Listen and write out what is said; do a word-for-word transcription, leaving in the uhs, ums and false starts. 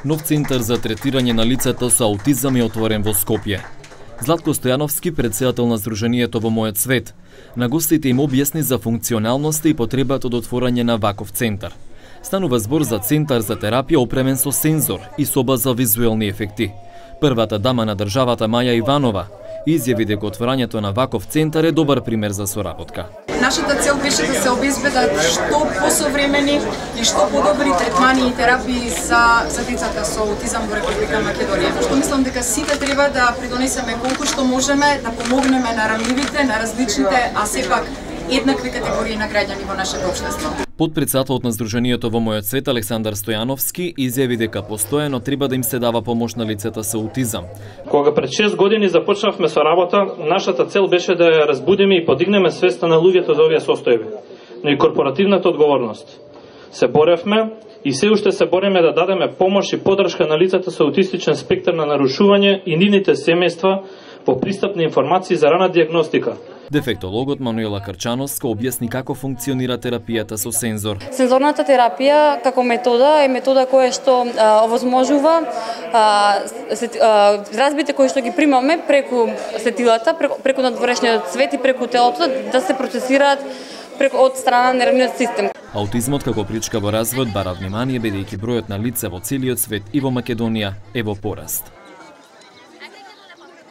Нов центар за третирање на лицата со аутизам е отворен во Скопје. Златко Стојановски, председател на Сдруженијето Во мојот свет, на гостите им објасни за функционалноста и потребата од отворање на ваков центар. Станува збор за центар за терапија опремен со сензор и соба за визуелни ефекти. Првата дама на државата Маја Иванова изјави дека отворањето на ваков центар е добар пример за соработка. Нашата цел беше да се обезбедат што посовремени и што подобри третмани и терапии за, за децата со аутизам во Република Македонија. Што мислам дека сите треба да придонесеме колку што можеме, да помогнеме на ранливите, на различните, а сепак еднакви категории на граѓани во нашето општество. Подпредседателот на Сдруженијето Во мојот свет Александар Стојановски изјави дека постојано треба да им се дава помош на лицата со аутизам. Кога пред шест години започнавме со работа, нашата цел беше да ја разбудиме и подигнеме свеста на луѓето за овие состојби, но и корпоративната одговорност. Се боревме и се уште се бориме да дадеме помош и поддршка на лицата со аутистичен спектар на нарушување и нивните семејства по пристап на информации за рана диагностика. Дефектологот Мануела Карчановска објасни како функционира терапијата со сензор. Сензорната терапија како метода е метода која што а, овозможува а, сет, а, разбите кои што ги примаме преку сетилата, преку, преку надворешниот свет и преку телото да се процесираат преку од страна на нервниот систем. Аутизмот како причка во развојот бара внимание бидејќи бројот на лица во целиот свет и во Македонија е во пораст.